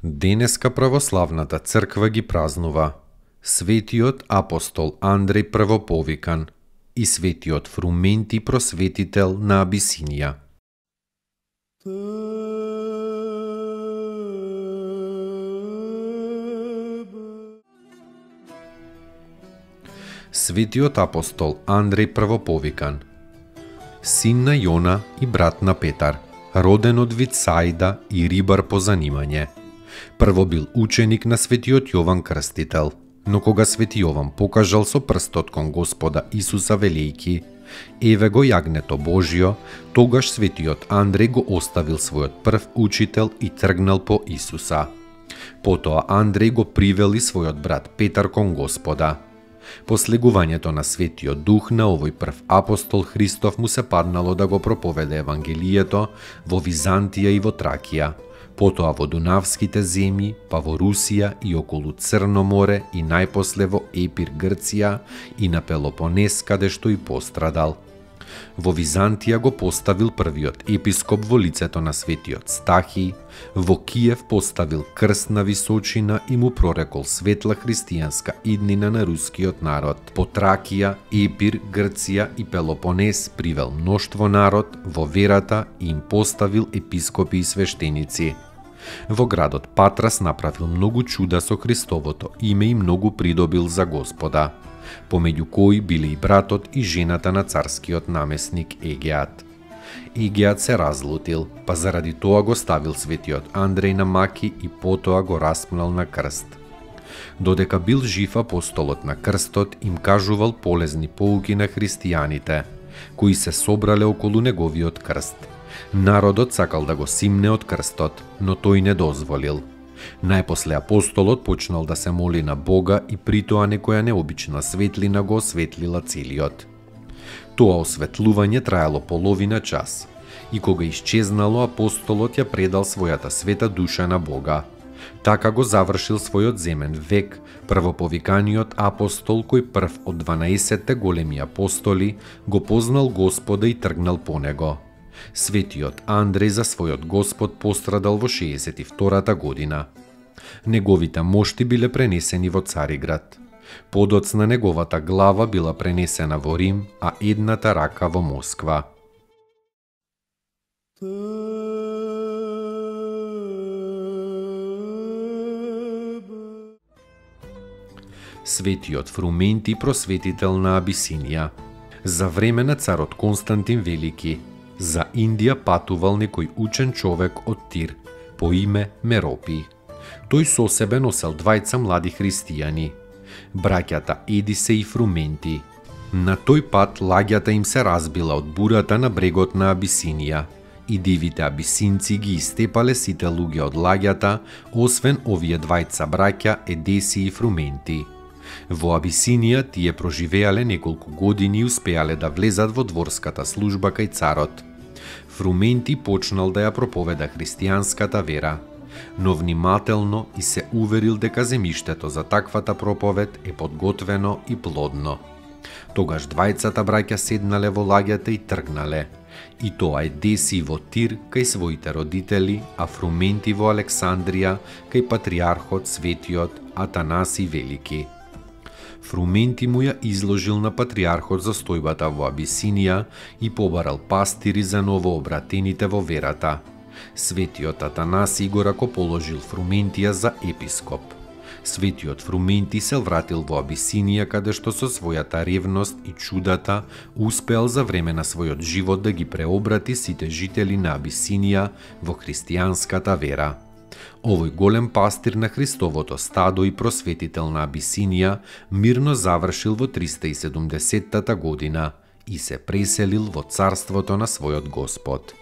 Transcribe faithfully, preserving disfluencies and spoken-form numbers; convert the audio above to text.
Денеска православната црква ги празнува светиот апостол Андреј Првоповикан и светиот Фрументи просветител на Абисинија. Светиот апостол Андреј Првоповикан, син на Јона и брат на Петар, роден од Вицаида и рибар по занимање. Прво бил ученик на светиот Јован Крстител, но кога свети Јован покажал со прстот кон Господа Исуса велејки: еве го јагнето Божјо, тогаш светиот Андреј го оставил својот прв учител и тргнал по Исуса. Потоа Андреј го привели својот брат Петар кон Господа. По слегувањето на Светиот Дух на овој прв апостол Христов му се паднало да го проповеде Евангелието во Византија и во Тракија, потоа во Дунавските земји, па во Русија и околу Црно море и најпосле во Епир, Грција и на Пелопонес, каде што и пострадал. Во Византија го поставил првиот епископ во лицето на светиот Стахи, во Киев поставил крстна височина и му прорекол светла христијанска иднина на рускиот народ. По Тракија, Епир, Грција и Пелопонес привел мноштво народ во верата и им поставил епископи и свештеници. Во градот Патрас направил многу чуда со Христовото име и многу придобил за Господа, помеѓу кои биле и братот и жената на царскиот намесник Егеат. Егеат се разлутил, па заради тоа го ставил светиот Андреј на маки и потоа го распнал на крст. Додека бил жив апостолот на крстот им кажувал полезни поуки на христијаните, кои се собрале околу неговиот крст. Народот сакал да го симне од крстот, но тој не дозволил. Најпосле апостолот почнал да се моли на Бога и притоа некоја необична светлина го осветлила целиот. Тоа осветлување траело половина час и кога исчезнало, апостолот ја предал својата света душа на Бога. Така го завршил својот земен век првоповиканиот апостол кој прв од дванаесетте големи апостоли го познал Господа и тргнал по него. Светиот Андреј за својот Господ пострадал во шеесет и втората година. Неговите мошти биле пренесени во Цариград. Подоцна неговата глава била пренесена во Рим, а едната рака во Москва. Светиот Фрументи просветител на Абисинија. За време на царот Константин Велики, за Индија патувал некој учен човек од Тир, по име Меропи. Тој со себе носел двајца млади христијани, браќата Едисе и Фрументи. На тој пат лагјата им се разбила од бурата на брегот на Абисинија и дивите абисинци ги истепале сите луѓе од лагјата, освен овие двајца браќа Едеси и Фрументи. Во Абисинија тие проживеале неколку години и успеале да влезат во дворската служба кај царот. Фрументи почнал да ја проповеда христијанската вера, но внимателно и се уверил дека земјиштето за таквата проповед е подготвено и плодно. Тогаш двајцата браќа седнале во лагјата и тргнале, и тоа е Деси во Тир кај своите родители, а Фрументи во Александрија кај патриархот светиот Атанаси Велики. Фрументи му ја изложил на патриархот застојбата во Абисинија и побарал пастири за новообратените во верата. Светиот Атанаси го ракоположил Фрументија за епископ. Светиот Фрументи се вратил во Абисинија, каде што со својата ревност и чудата успеал за време на својот живот да ги преобрати сите жители на Абисинија во христијанската вера. Овој голем пастир на Христовото стадо и просветител на Абисинија мирно завршил во триста и седумдесеттата година и се преселил во царството на својот Господ.